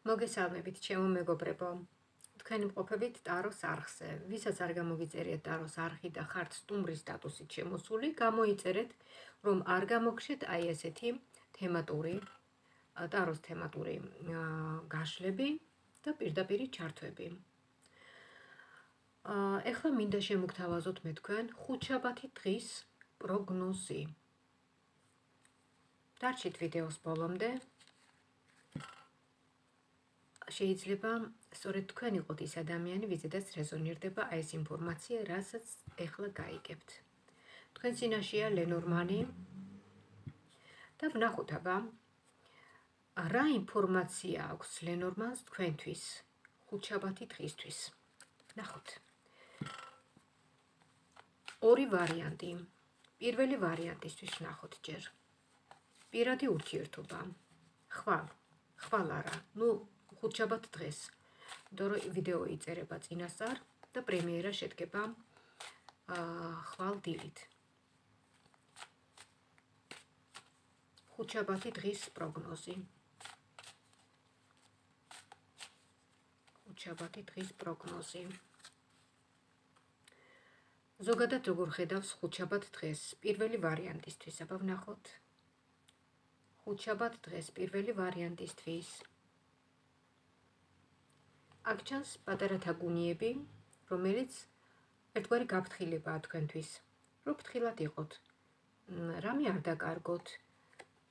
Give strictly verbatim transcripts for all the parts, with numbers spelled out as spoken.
მოგესალმებით, ჩემო მეგობრებო. თქვენ მყოფებით ტაროს არხზე. ვისაც არ გამოგიწერიათ ტაროს არხი და ხართ სტუმრის სტატუსით შემოსული, გამოიწერეთ, რომ არ გამოგხსნით აი ესეთი თემატური, ტაროს თემატური გაშლები და პირდაპირი ჩართვები. ეხლა მინდა შემოგთავაზოთ მე თქვენ ხუთშაბათი დღის პროგნოზი. დარჩით ვიდეოს ბოლომდე. შეიძლება სწორედ თქვენ იყოთ ის ადამიანი, ვიზედაც რეზონირდება აი ეს ინფორმაცია, რასაც ეხლა გაიგებთ. თქვენ წინაშეა ლენორმანი და ვნახოთ აბა რა ინფორმაცია აქვს ლენორმანს თქვენთვის ხუთშაბათი დღისთვის. ნახოთ. ორი ვარიანტი. პირველი ვარიანტისთვის ვნახოთ ჯერ. პირადი ურთიერთობა. ხვალ, ხვალ არა. ნუ ხუთშაბათ დღეს, იმიტომ რომ ვიდეო იწერება წინასწარ და პრემიერა შედგება ხვალ დილით. ხუთშაბათი დღის პროგნოზი. ხუთშაბათი დღის პროგნოზი. ზოგადად როგორ ხედავს ხუთშაბათ დღეს პირველი ვარიანტისთვის, აბა ვნახოთ. ხუთშაბათ დღეს პირველი ვარიანტისთვის. აქ ჩანს პატარა თაგუნიები, რომელიც ერთგვარი გაფრთხილებაა თქვენთვის, რომ ფრთხილად იყოთ. რამე არ დაკარგოთ,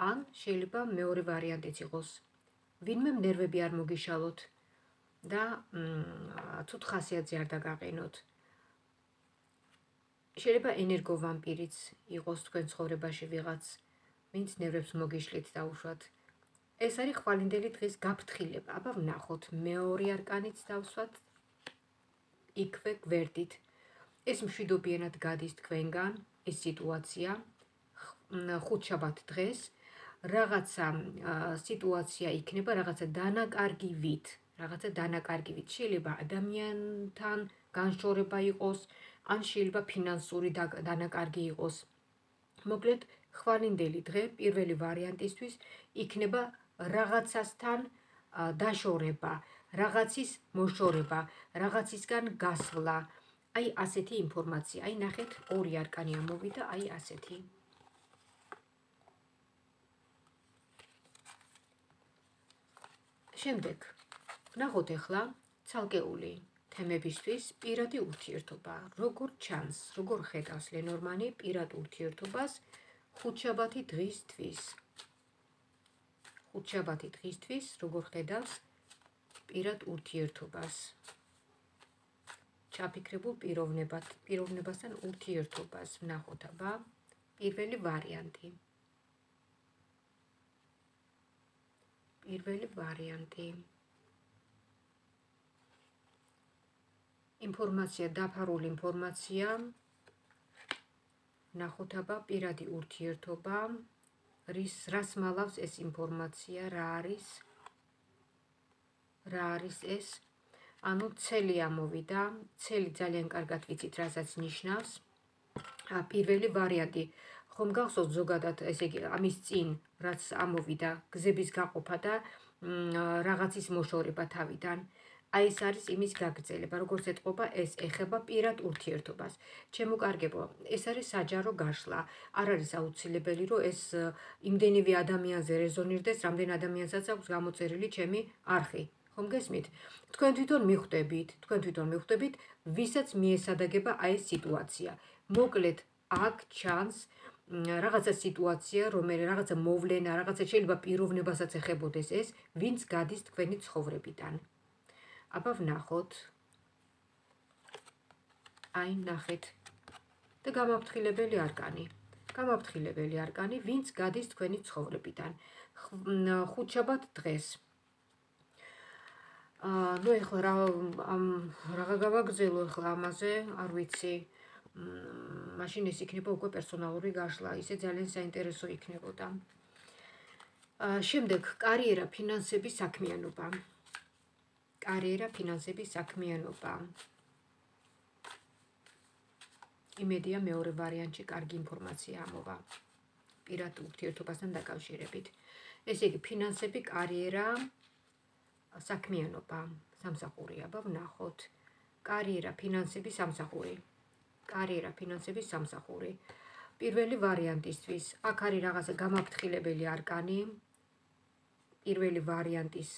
ან შეიძლება მეორე ვარიანტიც იყოს. ვინმე ნერვები არ მოგიშალოთ და ცუდ ხასიათზე არ დაგაყენოთ. შეიძლება ენერგოვამპირიც იყოს თქვენ ცხოვრებაში ვიღაც, ვინც ნერვებს მოგიშლით დაუშვათ. ეს არის ხვალინდელი დღის გაფრთხილება. აბა ვნახოთ, მეორე არკანიც დავსვათ იქვე გვერდით. ეს მშვიდობიანად გადის თქვენგან, ეს სიტუაცია ხუთშაბათ დღეს, რაღაცა სიტუაცია იქნება, რაღაცა დანაკარგივით, რაღაცა დანაკარგივით. შეიძლება ადამიანთან განშორება იყოს, ან შეიძლება ფინანსური დანაკარგი იყოს. მოკლედ, ხვალინდელი დღე პირველი ვარიანტისთვის იქნება რაღაცასთან დაშორება, რაღაცის მოშორება, რაღაცისგან გასვლა. აი ასეთი ინფორმაცია. აი ნახეთ, ორი არკანი ამოვიდა, აი ასეთი. შემდეგ, ვნახოთ ახლა ცალკეული თემებისთვის პირადი ურთიერთობა. როგორ ჩანს, როგორ ხედავს ლენორმანი პირად ურთიერთობას ხუთშაბათი დღისთვის. ხუთშაბათი დღისთვის როგორ ხედავს პირად ურთიერთობას. ჩაფიქრებულ პიროვნებად, პიროვნებასთან ურთიერთობას ვნახოთ აბა პირველი ვარიანტი. პირველი ვარიანტი. ინფორმაცია, დაფარული ინფორმაცია. ვნახოთ აბა პირადი ურთიერთობა. რის რას მალავს ეს ინფორმაცია, რა არის? რა არის ეს? ანუ ცელი ამოვიდა, ცელი ძალიან კარგად ვიცით, რასაც ნიშნავს. პირველი ვარიანტი. ხომ გახსოვთ ზოგადად, ესე იგი, ამის წინ, რაც ამოვიდა, გზების გაყოფა და რაღაცის მოშორება თავიდან. აი ეს არის იმის გაგრძელება, როგორც ეთყობა, ეს ეხება პირად ურთიერთობას. ჩემო კარგებო, ეს არის საჯარო გაშლა. არ არის აუცილებელი, რომ ეს იმდენივე ადამიანზე რეზონირდეს, რამდენ ადამიანსაც აქვს გამოწერილი ჩემი არხი. ხომ გესმით? თქვენ თვითონ მიხვდებით, თქვენ თვითონ მიხვდებით, ვისაც მიესადაგება აი ეს სიტუაცია. მოკლედ, აქ ჩანს რაღაცა სიტუაცია, რომელიც რაღაცა მოვლენა, რაღაცა შეიძლება პიროვნებასაც ეხებოდეს ეს, ვინც გადის თქვენი ცხოვრებიდან. აბა ვნახოთ. აი ნახეთ. და გამაფრთხილებელი არკანი. გამაფრთხილებელი არკანი, ვინც გადის თქვენი ცხოვრებიდან. ხუთშაბათ დღეს. ნუ ეხლა რა რაღა გავაგრძელო ეხლა ამაზე, არ ვიცი. მაშინ ეს იქნება უკვე პერსონალური გაშლა, ისე ძალიან საინტერესო იქნებოდა. შემდეგ, კარიერა, ფინანსები, საქმიანობა. კარიერა, ფინანსები, საქმიანობა. იმედია მეორე ვარიანტში კარგი ინფორმაცია ამოვა პირად ურთიერთობასთან დაკავშირებით. ესე იგი, ფინანსები, კარიერა, საქმიანობა სამსახური, აბა ვნახოთ. კარიერა, ფინანსები, სამსახური. კარიერა, ფინანსები, სამსახური. პირველი ვარიანტისთვის, აქ არის რაღაცა გამაფრთხილებელი არკანი. პირველი ვარიანტის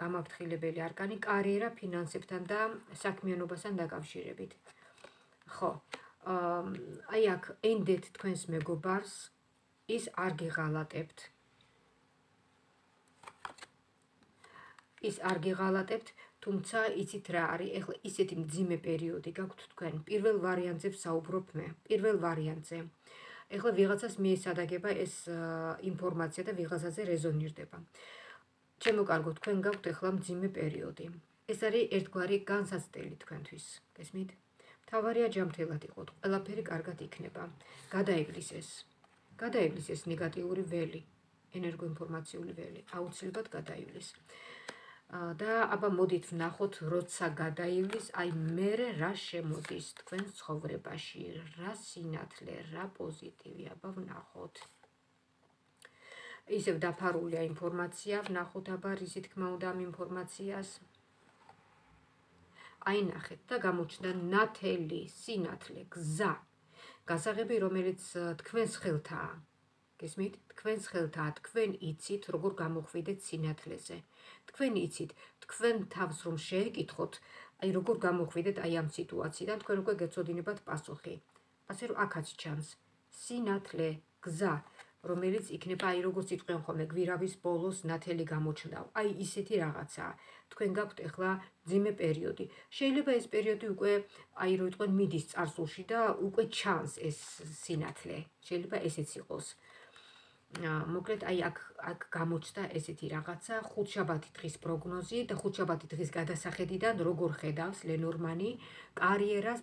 გამაფრთხილებელი არკანი კარიერა, ფინანსებთან და საქმიანობასთან დაკავშირებით. ხო, აი აქ ენდეთ თქვენს მეგობარს, ის არ გიღალატებთ. ის არ გიღალატებთ, თუმცა იცით რა არის, ეხლა ისეთი მძიმე პერიოდი გაქვთ თქვენ. პირველ ვარიანტზე ვსაუბრობ მე, პირველ ვარიანტზე. ეხლა ვიღაცას მიესადაგება ეს ინფორმაცია და ვიღაცაზე რეზონირდება. ჩემო კარგო, თქვენ გაქვთ ეხლა მძიმე პერიოდი. ეს არის ერთგვარი განსაცდელი თქვენთვის. გესმით? მთავარია ჯანმრთელად იყოთ, ყველაფერი კარგად იქნება. გადაივლის ეს. გადაივლის ეს ნეგატიური ველი, ენერგოინფორმაციული ველი, აუცილებლად გადაივლის. და აბა მოდით ვნახოთ, როცა გადაივლის, აი მერე რა შემოდის თქვენს ცხოვრებაში, რა სინათლე, რა პოზიტივი, აბა ვნახოთ. ისევ დაფარულია ინფორმაცია, ვნახოთ აბა რისი თქმა უნდა ამ ინფორმაციას. აი ნახეთ და გამოჩნდა ნათელი, სინათლე, გზა, გასაღები, რომელიც თქვენს ხელთაა. გესმით? თქვენს ხელთაა, თქვენ იცით, როგორ გამოხვიდეთ სინათლეზე. თქვენ იცით, თქვენ თავს რომ შეეკითხოთ, აი როგორ გამოხვიდეთ აი ამ სიტუაციიდან, თქვენ უკვე გეცოდინებათ პასუხი. ასე რომ აქაც ჩანს სინათლე, გზა, რომელიც იქნება აი როგორც იტყვიან ხოლმე გვირავის ბოლოს ნათელი გამოჩნდა. აი ისეთი რაღაცაა. თქვენ გაქვთ ახლა მძიმე პერიოდი. შეიძლება ეს პერიოდი უკვე აი რო იტყვენ მიდის წარსულში და უკვე ჩანს ეს სინათლე. შეიძლება ესეც იყოს. მოკლედ აი აქ აქ გამოჩნდა ესეთი რაღაცა, ხუთშაბათი დღის პროგნოზი და ხუთშაბათი დღის გადასახედიდან როგორ ხედავს ლენორმანი კარიერას,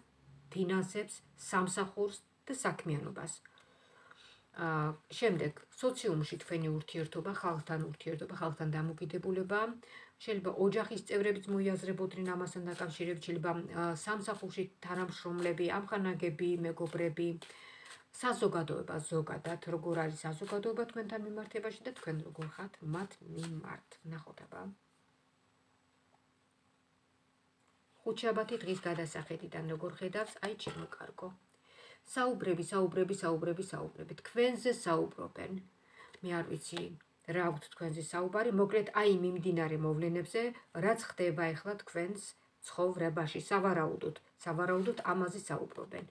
ფინანსებს, სამსახურს და საქმიანობას. შემდეგ სოციუმში თქვენი ურთიერთობა, ხალხთან ურთიერთობა, ხალხთან დამოკიდებულება, შეიძლება ოჯახის წევრებიც მოიაზრებოდნენ ამასთან დაკავშირებით, შეიძლება სამსახურში თანამშრომლები, ამხანაგები, მეგობრები, საზოგადოება ზოგადად, როგორ არის საზოგადოება თქვენთან მიმართებაში და თქვენ როგორ ხართ მათ მიმართ. ნახოთ აბა. ხუთშაბათი დღის გადასახედიდან როგორ ხედავს, აი ჩემო კარგო. საუბრები, საუბრები, საუბრები, საუბრები. თქვენზე საუბრობენ. მე არ ვიცი რა აქვთ თქვენზე საუბარი, მოკლედ აი მიმდინარე მოვლენებზე, რაც ხდება ახლა თქვენს ცხოვრებაში, სავარაუდოდ, სავარაუდოდ ამაზე საუბრობენ.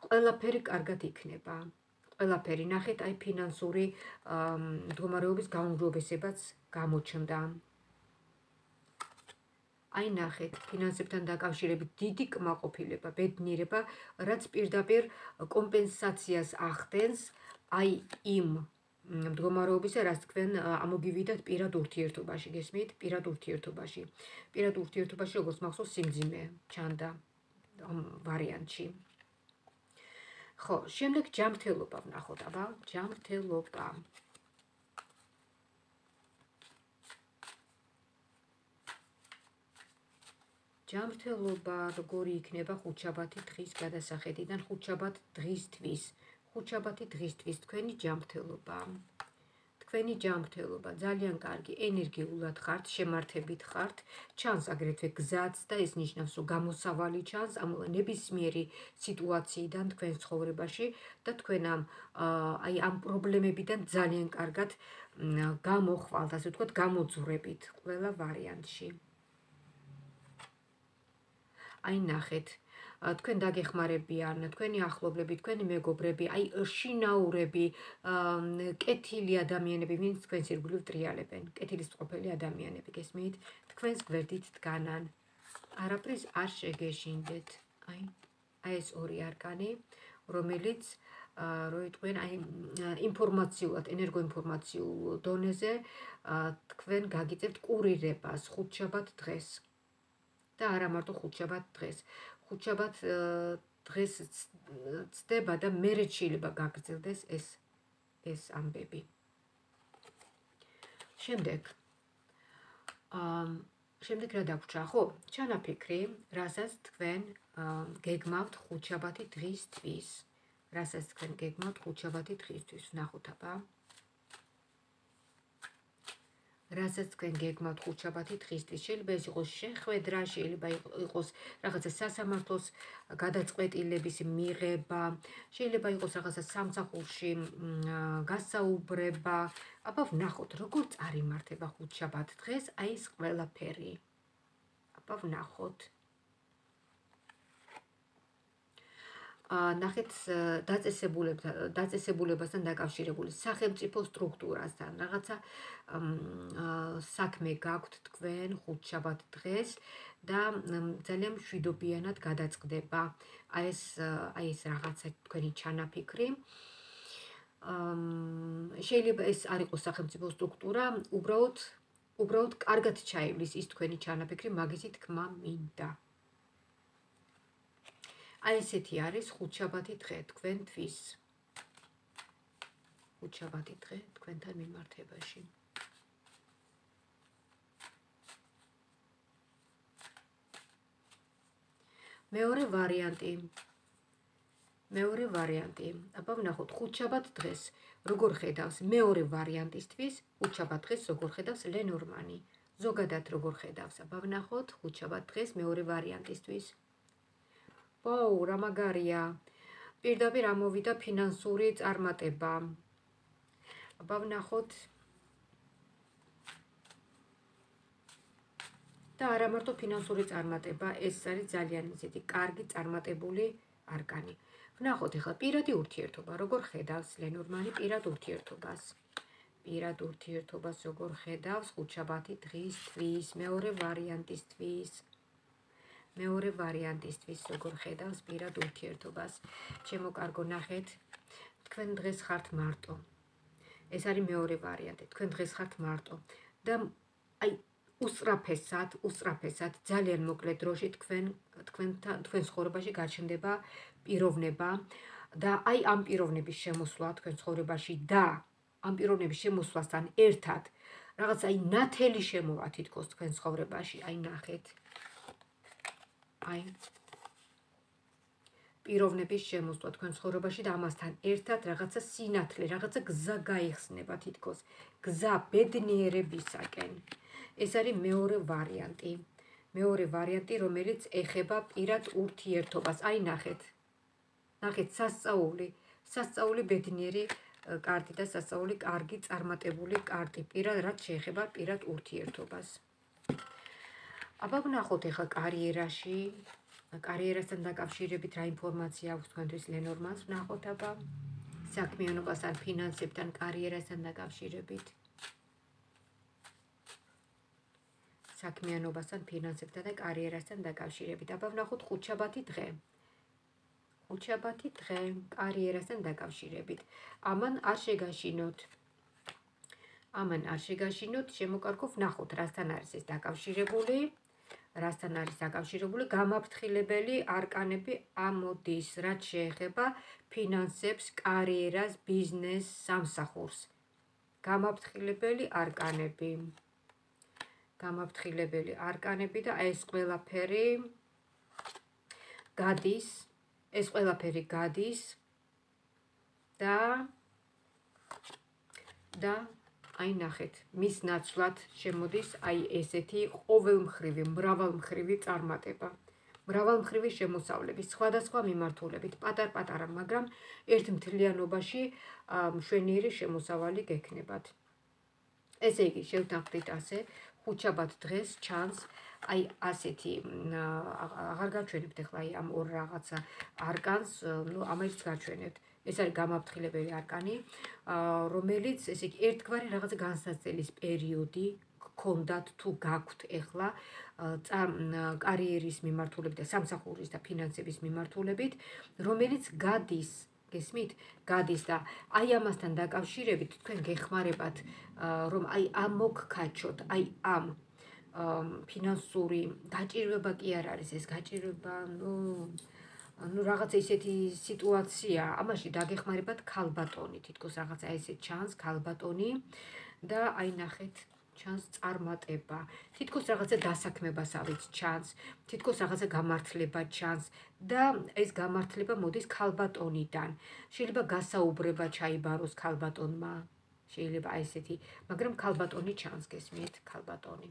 ყველაფერი კარგად იქნება. ყველაფერი ნახეთ, აი ფინანსური მდგომარეობის გაუმჯობესებაც გამოჩნდა. აი ნახეთ, ფინანსებთან დაკავშირებით დიდი კმაყოფილება, ბედნიერება, რაც პირდაპირ კომპენსაციას ახდენს აი იმ მდგომარეობისა, რაც თქვენ ამოგივიდათ პირად ურთიერთობაში, გესმით? პირად ურთიერთობაში. პირად ურთიერთობაში, როგორც მახსოვს, სიმძიმე ჩანდა ამ ვარიანტში. ხო, შემდეგ ჯანმრთელობა ვნახოთ, აბა, ჯანმრთელობა. ჯანმრთელობა როგორი იქნება ხუთშაბათი დღის გადასახედიდან, ხუთშაბათ დღისთვის, ხუთშაბათი დღისთვის თქვენი ჯანმრთელობა. თქვენი ჯანმრთელობა ძალიან კარგი, ენერგიულად ხართ, შემართებით ხართ, ჩანს აგრეთვე გზაც და ეს ნიშნავს, რომ გამოსავალი ჩანს ამ ნებისმიერი სიტუაციიდან თქვენ ცხოვრებაში და თქვენ ამ აი ამ პრობლემებიდან ძალიან კარგად გამოხვალთ, ასე ვთქვათ, გამოძვრებით ყველა ვარიანტში. აი ნახეთ, თქვენ დაგეხმარებიან, თქვენი ახლობლები, თქვენი მეგობრები, აი შინაურები, კეთილი ადამიანები, ვინც თქვენს ირგვლივ ტრიალებენ, კეთილისწყობილი ადამიანები, გესმით? თქვენს გვერდით დგანან. არაფრის არ შეგეშინდეთ. აი, აი ეს ორი არკანი, რომელიც რო იტყვიან, აი ინფორმაციულად, ენერგოინფორმაციულ დონეზე თქვენ გაგიწევთ კურირებას ხუთშაბათ დღეს. და არა მარტო ხუთშაბათ დღეს. ხუთშაბათ დღეს ცდება და მერე შეიძლება გაგრძელდეს ეს ეს ამბები. შემდეგ შემდეგ რა დაგვრჩა, ხო? ჩანაფიქრი, რასაც თქვენ გეგმავთ ხუთშაბათი დღისთვის. რასაც თქვენ გეგმავთ ხუთშაბათი დღისთვის. ვნახოთ აბა. რასაც თქვენ გეგმავთ ხუთშაბათი დღისთვის. შეიძლება ეს იყოს შეხვედრა, შეიძლება იყოს რაღაცა სასამართლოს გადაწყვეტილების მიღება, შეიძლება იყოს რაღაცა სამსახურში გასაუბრება. აბა ვნახოთ, როგორ წარიმართება ხუთშაბათ დღეს აი ეს ყველაფერი. აბა ვნახოთ. ნახეთ დაწესებულებასთან დაკავშირებული სახელმწიფო სტრუქტურასთან რაღაცა საქმე გაქვთ თქვენ ხუთშაბათ დღეს და ძალიან მშვიდობიანად გადაწყდება აი ეს აი ეს რაღაცა თქვენი ჩანაფიქრი. შეიძლება ეს არ იყოს სახელმწიფო სტრუქტურა, უბრალოდ უბრალოდ კარგად ჩაივლის ის თქვენი ჩანაფიქრი, მაგისი თქმა მინდა. აი ესეთი არის ხუთშაბათი დღე თქვენთვის. ხუთშაბათი დღე თქვენთან მიმართებაში. მეორე ვარიანტი. მეორე ვარიანტი. აბა ვნახოთ ხუთშაბათ დღეს როგორ ხედავს მეორე ვარიანტისთვის, ხუთშაბათ დღეს როგორ ხედავს ლენორმანი. ზოგადად როგორ ხედავს. აბა ვნახოთ ხუთშაბათ დღეს მეორე ვარიანტისთვის. ვაუ, რა მაგარია. პირდაპირ ამოვიდა ფინანსური წარმატება. აბა ვნახოთ. და არა მარტო ფინანსური წარმატება, ეს არის ძალიან ისეთი კარგი წარმატებული არკანი. ვნახოთ ახლა პირადი ურთიერთობა, როგორ ხედავს ლენორმანი პირად ურთიერთობას. პირად ურთიერთობას როგორ ხედავს ხუთშაბათი დღისთვის, მეორე ვარიანტისთვის. მეორე ვარიანტისთვის როგორ ხედავს პირად ურთიერთობას. ჩემო კარგო, ნახეთ, თქვენ დღეს ხართ მარტო. ეს არის მეორე ვარიანტი. თქვენ დღეს ხართ მარტო და აი უსწრაფესად, უსწრაფესად, ძალიან მოკლე დროში თქვენ თქვენთან თქვენ ცხოვრებაში გაჩნდება პიროვნება და აი ამ პიროვნების შემოსვლა თქვენ ცხოვრებაში და ამ პიროვნების შემოსვლასთან ერთად რაღაც აი ნათელი შემოვა თითქოს თქვენ ცხოვრებაში, აი ნახეთ. აი პიროვნების შემოსვლა თქვენ ცხოვრებაში და ამასთან ერთად რაღაცა სინათლე, რაღაცა გზა გაიხსნება თითქოს, გზა ბედნიერებისაკენ. ეს არის მეორე ვარიანტი. მეორე ვარიანტი, რომელიც ეხება პირად ურთიერთობას. აი ნახეთ. ნახეთ სასწაული, სასწაული ბედნიერი კარტი და სასწაული კარგი წარმატებული კარტი, პირად რაც შეეხება პირად ურთიერთობას. აბა ვნახოთ ახლა კარიერაში, კარიერასთან დაკავშირებით რა ინფორმაცია აქვს თქვენთვის ლენორმანს, ვნახოთ აბა საქმიანობასთან, ფინანსებთან, კარიერასთან დაკავშირებით. საქმიანობასთან, ფინანსებთან და კარიერასთან დაკავშირებით. აბა ვნახოთ ხუთშაბათი დღე. ხუთშაბათი დღე კარიერასთან დაკავშირებით. ამან არ შეგაშინოთ. ამან არ შეგაშინოთ, შემოკარგო ვნახოთ, რასთან არის ეს დაკავშირებული. რასთან არის დაკავშირებული გამაფრთხილებელი არკანები ამოდის, რაც შეეხება ფინანსებს, კარიერას, ბიზნესს, სამსახურს. გამაფრთხილებელი არკანები. გამაფრთხილებელი არკანები და ეს ყველაფერი გადის, ეს ყველაფერი გადის და და აი ნახეთ, მის ნაცვლად შემოდის აი ესეთი ყოველმხრივი, მრავალმხრივი წარმატება. მრავალმხრივი შემოსავლები, სხვადასხვა მიმართულებით, პატარ-პატარა, მაგრამ ერთ მთლიანობაში მშვენიერი შემოსავალი გექნებათ. ესე იგი, შევთანხმდით ასე, ხუთშაბათ დღეს ჩანს აი ასეთი, აღარ გაჩვენებთ ახლა აი ამ ორ რაღაცა არკანს, ნუ ამერიც გაჩვენებთ. ეს არის გამაფრთხილებელი არკანი, რომელიც ესე იგი ერთგვარი რაღაცა განსაცდელის პერიოდი გქონდათ თუ გაქვთ ახლა კარიერის მიმართულებით და სამსახურის და ფინანსების მიმართულებით, რომელიც გადის, გესმით? გადის და აი ამასთან დაკავშირებით თქვენ გეხმარებათ, რომ აი ამ მოგქაჩოთ, აი ამ ფინანსური გაჭირვება კი არ არის ეს გაჭირვება, ნუ ну რაღაცა ისეთი სიტუაცია, ამაში დაგეხმარებათ ქალბატონი, თითქოს რაღაცა ესე ჩანს ქალბატონი და აი ნახეთ, ჩანს წარმატება. თითქოს რაღაცა დასაქმებასავით ჩანს, თითქოს რაღაცა გამართლება ჩანს და ეს გამართლება მოდის ქალბატონიდან. შეიძლება გასაუბრება ჩაიბაროს ქალბატონმა. შეიძლება აი ესეთი, მაგრამ ქალბატონი ჩანს გესმით, ქალბატონი.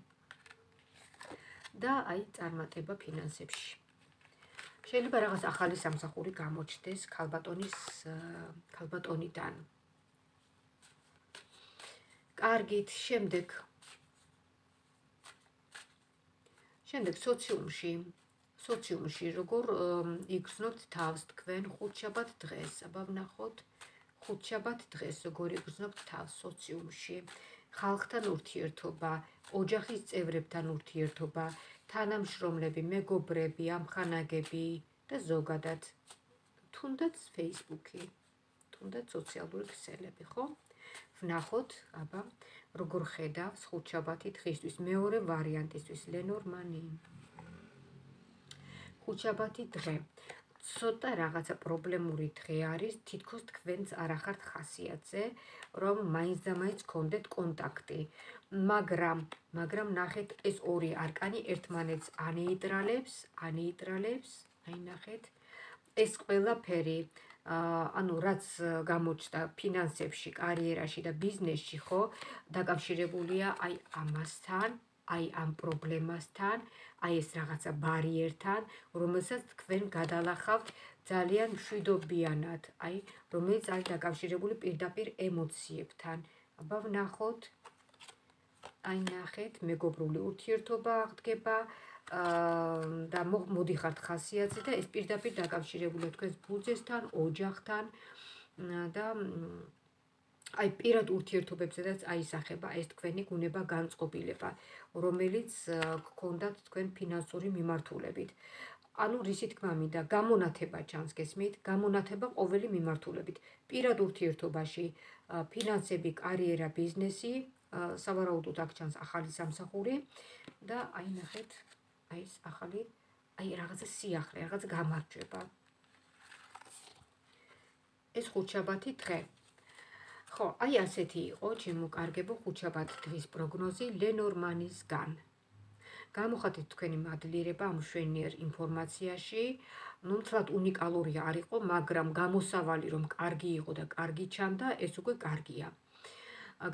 და აი წარმატება ფინანსებში. შეიძლება რაღაც ახალი სამსახური გამოჩნდეს ქალბატონის ქალბატონიდან. კარგით, შემდეგ შემდეგ სოციუმში, სოციუმში როგორ იგრძნობთ თავს თქვენ ხუთშაბათ დღეს, აბა ვნახოთ ხუთშაბათ დღეს როგორ იგრძნობთ თავს სოციუმში, ხალხთან ურთიერთობა, ოჯახის წევრებთან ურთიერთობა, თანამშრომლები, მეგობრები, ამხანაგები და ზოგადად თუნდაც Facebook-ი, თუნდაც სოციალური ქსელები, ხო? ვნახოთ, აბა, როგორ ხედავს ხუთშაბათი დღისთვის, მეორე ვარიანტისთვის, ლენორმანი. ხუთშაბათი დღე. ცოტა რაღაცა პრობლემური დღე არის, თითქოს თქვენც არ ახართ ხასიათზე, რომ მაინც და მაინც გქონდეთ კონტაქტი. მაგრამ, მაგრამ ნახეთ ეს ორი არკანი ერთმანეთს ანეიტრალებს, ანეიტრალებს, აი ნახეთ, ეს ყველაფერი ანუ რაც გამოჩნდა ფინანსებში, კარიერაში და ბიზნესში, ხო, დაკავშირებულია აი ამასთან, აი ამ პრობლემასთან, აი ეს რაღაცა ბარიერთან, რომელსაც თქვენ გადალახავთ ძალიან მშვიდობიანად, აი რომელიც არის დაკავშირებული პირდაპირ ემოციებთან. აბა ვნახოთ, აი ნახეთ, მეგობრული ურთიერთობა აღდგება და მოდიხართ ხასიათზე და ეს პირდაპირ დაკავშირებულია თქვენს ბუძესთან, ოჯახთან და აი პირად ურთიერთობებზედაც აისახება ეს თქვენი გუნება განწყობილება, რომელიც გქონდათ თქვენ ფინანსური მიმართულებით. ანუ რისი თქმა მინდა, გამონათება ჩანს გესმით, გამონათება ყოველი მიმართულებით. პირად ურთიერთობაში, ფინანსები, კარიერა, ბიზნესი, სავარაუდოდ აქ ჩანს ახალი სამსახური და აი ნახეთ, აი ეს ახალი, აი რაღაცა სიახლე, რაღაც გამარჯვება. ეს ხუთშაბათი დღე. ხო, აი ასეთი იყო ჩემო კარგებო ხუთშაბათ დღის პროგნოზი ლენორმანისგან. გამოხატეთ თქვენი მადლიერება ამ მშვენიერ ინფორმაციაში. ნუ მთლად უნიკალური არ იყო, მაგრამ გამოსავალი რომ კარგი იყო და კარგი ჩანდა, ეს უკვე კარგია.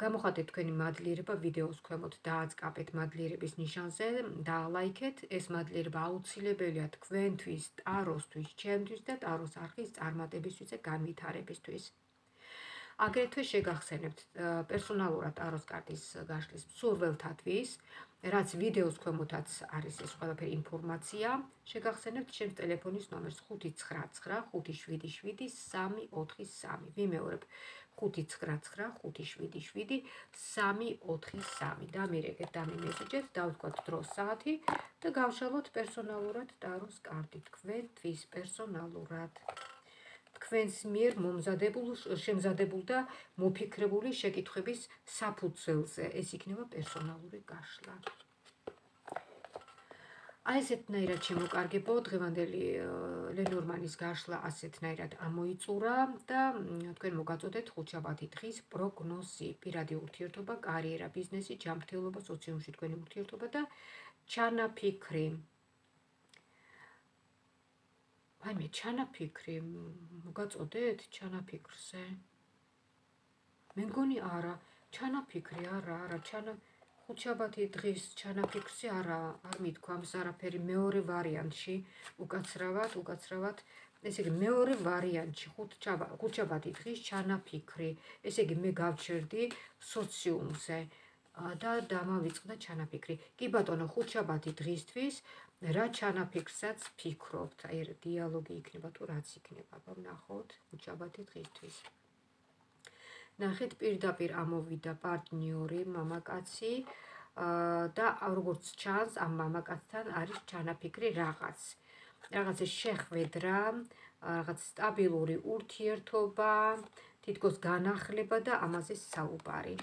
გამოხატეთ თქვენი მადლიერება ვიდეოს ქვემოთ, დააწყაპეთ მადლიერების ნიშანზე, დაალაიქეთ. ეს მადლიერება აუცილებელია თქვენთვის, ტაროსთვის, ჩემთვის და ტაროს არხის წარმატებისთვის და განვითარებისთვის. აგრეთვე შეგახსენებთ პერსონალურად ტაროს კარტის გაშლის მსურველთათვის, რაც ვიდეოს ქვემოთაც არის ეს ყველაფერი ინფორმაცია, შეგახსენებთ ჩემს ტელეფონის ნომერს ხუთი ცხრა ცხრა ხუთი შვიდი შვიდი სამი ოთხი სამი. ვიმეორებ ხუთი ცხრა ცხრა ხუთი შვიდი შვიდი სამი ოთხი სამი. დამირეკეთ, დამიმესიჯეთ, დავთქვათ დროს საათი და გავშალოთ პერსონალურად ტაროს კარტი თქვენთვის პერსონალურად. თქვენს მიერ მომზადებულ, შემზადებულ და მოფიქრებული შეკითხვების საფუძველზე. ეს იქნება პერსონალური გაშლა. აი ესეთნაირად შემოკარგებო, დღევანდელი ლენორმანის გაშლა ასეთნაირად ამოიწურა და თქვენ მოგაწოდეთ ხუთშაბათი დღის პროგნოზი, პირადი ურთიერთობა, კარიერა, ბიზნესი, ჯანმრთელობა, სოციუმში თქვენი ურთიერთობა და ჩანაფიქრი. აი მე ჩანაფიქრი, მოგაწოდეთ ჩანაფიქრზე. მე მგონი არა, ჩანაფიქრი არა, არა, ჩანა ხუთშაბათი დღის ჩანაფიქრზე არა, არ მithქვამს არაფერი მეორე ვარიანტში, უკაცრავად, უკაცრავად, ესე იგი მეორე ვარიანტში ხუთშაბათი დღის ჩანაფიქრი. ესე იგი მე გავჩერდი სოციუმზე და დამავიწყდა ჩანაფიქრი. კი ბატონო, ხუთშაბათი დღისთვის რა ჩანაფიქრსაც ფიქრობთ, აი დიალოგი იქნება თუ რაც იქნება, ვნახოთ ხუთშაბათი დღისთვის. ნახეთ, პირდაპირ ამოვიდა პარტნიორი, მამაკაცი და როგორც ჩანს, ამ მამაკაცთან არის ჩანაფიქრი რაღაც. რაღაცა შეხვედრა, რაღაც სტაბილური ურთიერთობა, თითქოს განახლება და ამაზე საუბარი.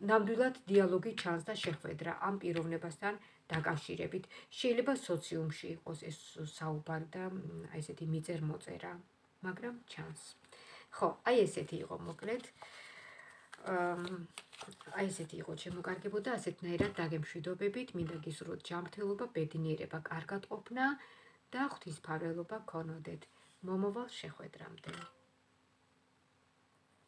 ნამდვილად დიალოგი ჩანს და შეხვედრა ამ პიროვნებასთან დაკავშირებით. შეიძლება სოციუმში იყოს ეს საუბარი და აი ესეთი მიწერ-მოწერა, მაგრამ ჩანს. ხო, აი ესეთი იყო მოკლედ. აი ესეთი იყო ჩემო კარგებო და ასეთნაირად დაგემშვიდობებით, მინდა გისურვოთ ჯანმრთელობა, ბედნიერება, კარგად ყოფნა და ღვთისმფარველობა გქონოდეთ. მომავალ შეხვედრამდე.